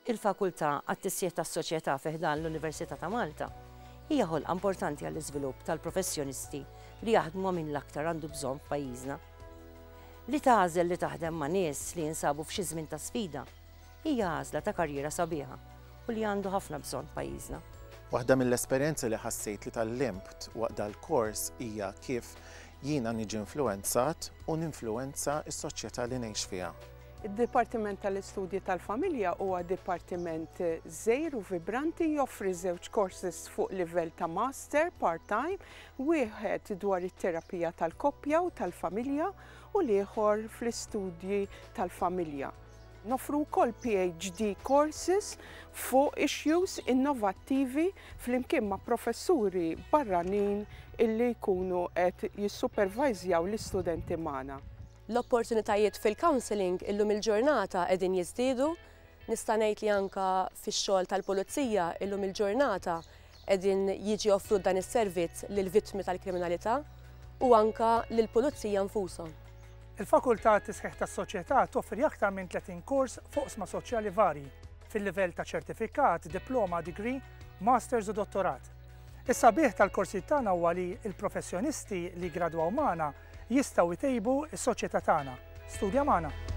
Il-Fakultà għat-Tisjiet tas-Soċjetà fi ħdan l-Università ta' Malta hija ħolqa importanti għall-iżvilupp tal-professjonisti li jaħdmu ma' min l-aktar għandu bżonn f'pajjiżna. Li tagħżel li taħdem ma' nies li jinsabu f'xi żmien ta' sfida hija għażla ta' karriera sabiħa u li għandu ħafna bżonn pajjiżna. Waħda mill-esperjenzi li ħassejt li tgħallimt waqt dal-kors hija kif jiena niġi influwenzat u ninfluwenza s-soċjetà li ngħix fiha. Id-Dipartiment tal-Istudji tal-Familja huwa dipartiment żgħir u vibranti joffri żewġ courses fuq livell ta' master part-time, wieħed dwar it-terapija tal-koppja u tal-familja u l-ieħor fl-istudji tal-familja. Noffru wkoll PhD courses fuq issues innovattivi flimkien ma' professuri barranin illi jkunu qed jissupervajżjaw l-istudenti magħna. L-opportunitajiet fil-counselling illum il-ġurnata qegħdin jiżdiedu. Nista' ngħid li anke fix-xogħol tal-pulizija illum il-ġurnata qegħdin jiġi offrut dan is-servizz lill-vittmi tal-kriminalità u anke lill-pulizija nfushom. Il-Fakultà għat-Tisħiħ tas-Soċjetà toffri aktar minn 30 kors f'oqsma soċjali varji, fil-livell ta' ċertifikat, diploma, degree, masters u dottorat. Is-sabiħ tal-korsijiet tagħna huwa li l-professjonisti li jiggradwaw magħna jistgħu jtejbu s-soċjetà tagħna. Studja magħna!